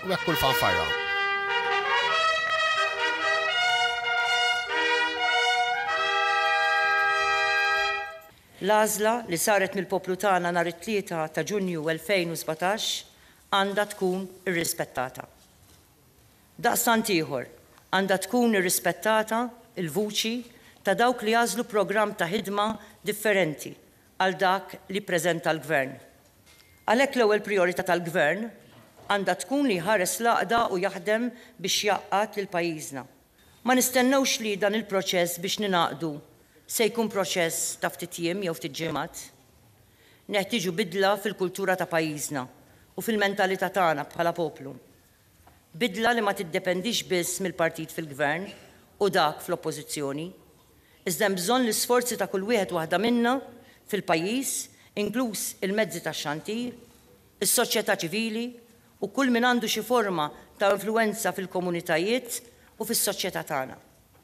U hekk kull fanfarra. L-għażla li saret mill-poplu tagħna nhar it-Tlieta ta' Ġunju 2017 għandha tkun irrispettata. Daqstant ieħor, għandha tkun irrispettata l-vuċi ta' dawk li għażlu programm ta' ħidma differenti għal dak li ppreżenta l-Gvern. Għalhekk l-ewwel prijorità tal-Gvern għandha tkun li jħares l-għaqda u jaħdem biex jgħaqqad lil pajjiżna. Ma nistennewx li dan il-proċess biex ningħaqdu se jkun proċess ta' ftit jiem jew ftit ġimgħat. Neħtieġu bidla fil-kultura ta' pajjiżna u fil-mentalità tagħna bħala poplu. Bidla li ma tiddependix biss mill-partit fil-Gvern u dak fl-Oppożizzjoni, iżda hemm bżonn l-isforzi ta' kull wieħed u waħda minna fil-pajjiż, inkluż il-mezzi tax-xandir, is-soċjetà ċivili u kull min għandu xi forma ta' influwenza fil-komunitajiet u fis-soċjetà tagħna.